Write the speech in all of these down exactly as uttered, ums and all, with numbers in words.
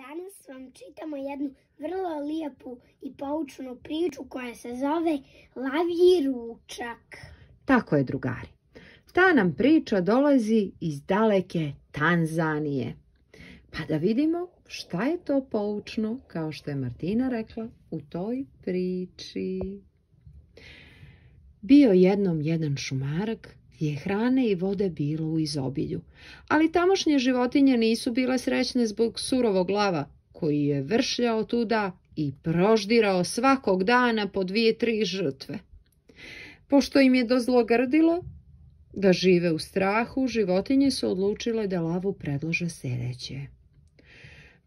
Danas vam čitamo jednu vrlo lijepu i poučnu priču koja se zove Lavlji ručak. Tako je, drugari. Ta nam priča dolazi iz daleke Tanzanije. Pa da vidimo šta je to poučno, kao što je Martina rekla, u toj priči. Bio jednom jedan šumarak gdje je hrane i vode bilo u izobilju, ali tamošnje životinje nisu bile srećne zbog surovog lava, koji je vršljao tuda i proždirao svakog dana po dvije, tri žrtve. Pošto im je dozlogrdilo da žive u strahu, životinje su odlučile da lavu predlože sljedeće.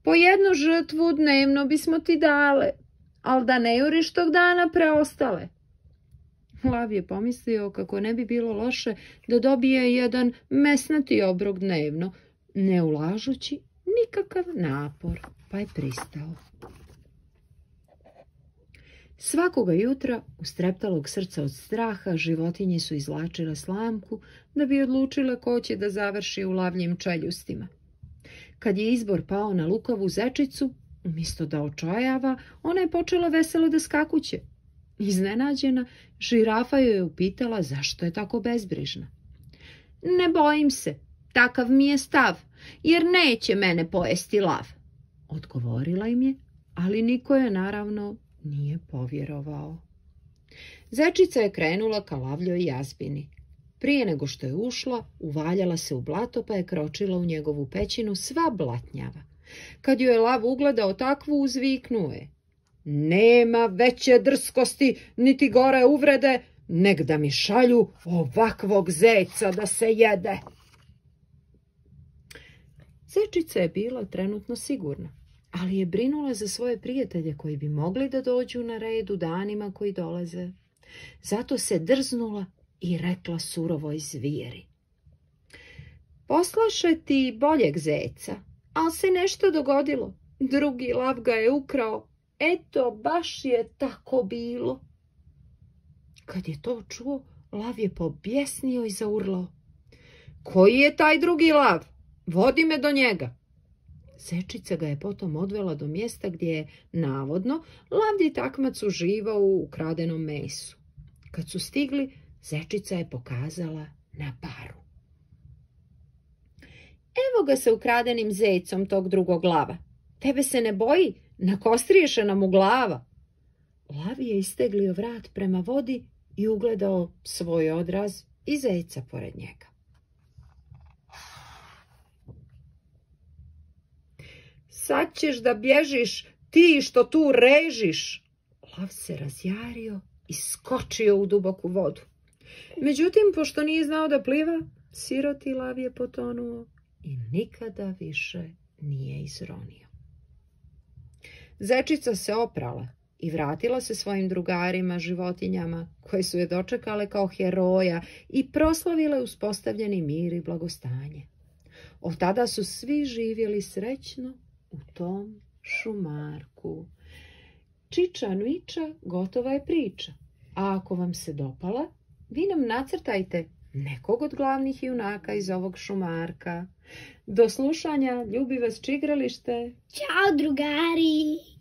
Po jednu žrtvu dnevno bismo ti dale, ali da ne juriš tog dana preostale. Lav je pomislio kako ne bi bilo loše da dobije jedan mesnati obrok dnevno, ne ulažući nikakav napor, pa je pristao. Svakoga jutra, ustreptalog srca od straha, životinje su izvlačile slamku da bi odlučile ko će da završi u lavljim čeljustima. Kad je izbor pao na lukavu zečicu, umjesto da očajava, ona je počela veselo da skakuće. Iznenađena, žirafa joj je upitala zašto je tako bezbrižna. Ne bojim se, takav mi je stav, jer neće mene pojesti lav, odgovorila im je, ali niko je naravno nije povjerovao. Zečica je krenula ka lavljoj jazbini. Prije nego što je ušla, uvaljala se u blato pa je kročila u njegovu pećinu sva blatnjava. Kad ju je lav ugledao takvu, uzviknuo je: nema veće drskosti, niti gore uvrede, nek da mi šalju ovakvog zeca da se jede. Zečica je bila trenutno sigurna, ali je brinula za svoje prijatelje koji bi mogli da dođu na red u danima koji dolaze. Zato se drznula i rekla surovoj zvijeri: poslaše ti boljeg zeca, ali se nešto dogodilo. Drugi lav ga je ukrao. Eto, baš je tako bilo. Kad je to čuo, lav je pobjesnio i zaurlao: koji je taj drugi lav? Vodi me do njega. Zečica ga je potom odvela do mjesta gdje je, navodno, lavlji takmac uživao u ukradenom mesu. Kad su stigli, zečica je pokazala na baru. Evo ga sa ukradenim zecom tog drugog lava. Tebe se ne boji? Nakostriješe nam u glava. Lav je isteglio vrat prema vodi i ugledao svoj odraz i zeca pored njega. Sad ćeš da bježiš, ti što tu režiš. Lav se razjario i skočio u duboku vodu. Međutim, pošto nije znao da pliva, siroti lav je potonuo i nikada više nije izronio. Zečica se oprala i vratila se svojim drugarima, životinjama, koje su je dočekale kao heroja i proslavile uspostavljeni mir i blagostanje. Od tada su svi živjeli srećno u tom šumarku. Čiča miča, gotova je priča. A ako vam se dopala, vi nam nacrtajte nekog od glavnih junaka iz ovog šumarka. Do slušanja, ljubi vas čigralište. Ćao, drugari!